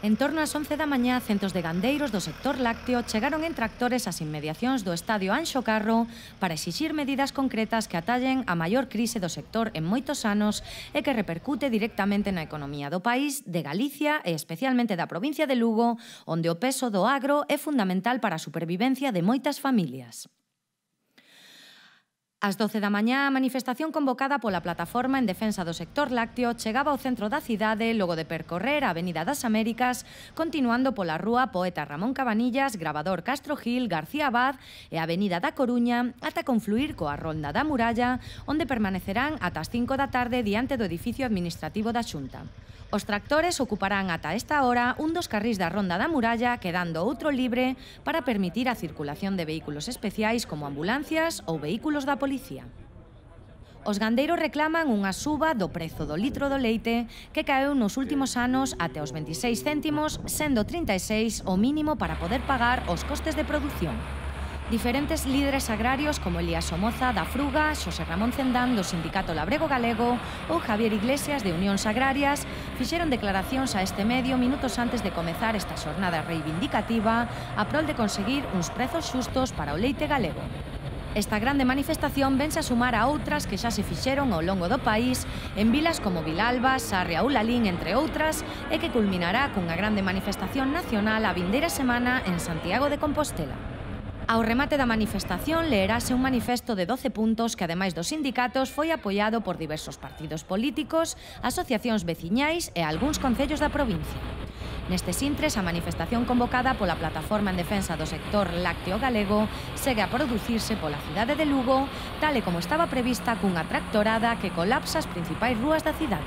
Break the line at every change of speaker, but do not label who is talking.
En torno ás 11 da mañá, centos de gandeiros do sector lácteo chegaron en tractores ás inmediacións do estadio Anxo Carro para exixir medidas concretas que atallen a maior crise do sector en moitos anos e que repercute directamente na economía do país, de Galicia e especialmente da provincia de Lugo, onde o peso do agro é fundamental para a supervivencia de moitas familias. Ás 12 da mañá, a manifestación convocada pola Plataforma en Defensa do Sector Lácteo chegaba ao centro da cidade logo de percorrer a Avenida das Américas, continuando pola rúa Poeta Ramón Cabanillas, Gravador Castro Gil, García Abad e a Avenida da Coruña ata confluir coa Ronda da Muralla, onde permanecerán ata as 5 da tarde diante do edificio administrativo da Xunta. Os tractores ocuparán ata esta hora un dos carrís da Ronda da Muralla, quedando outro libre para permitir a circulación de vehículos especiais como ambulancias ou vehículos da policía. Os gandeiros reclaman unha suba do prezo do litro do leite que caeu nos últimos anos até os 26 céntimos, sendo 36 o mínimo para poder pagar os costes de produción. Diferentes líderes agrarios como Elías Somoza da Fruga, Xosé Ramón Cendán do Sindicato Labrego Galego ou Javier Iglesias de Unións Agrarias fixeron declaracións a este medio minutos antes de comezar esta xornada reivindicativa a prol de conseguir uns prezos xustos para o leite galego. Esta grande manifestación vense a sumar a outras que xa se fixeron ao longo do país en vilas como Vilalba, Sarria ou Lalín, entre outras, e que culminará cunha grande manifestación nacional a vindeira semana en Santiago de Compostela. Ao remate da manifestación leerase un manifesto de 12 puntos que, ademais dos sindicatos, foi apoiado por diversos partidos políticos, asociacións veciñais e algúns concellos da provincia. Nestes intres, a manifestación convocada pola Plataforma en Defensa do Sector Lácteo Galego segue a producirse pola cidade de Lugo, tal e como estaba prevista cunha tractorada que colapsa as principais rúas da cidade.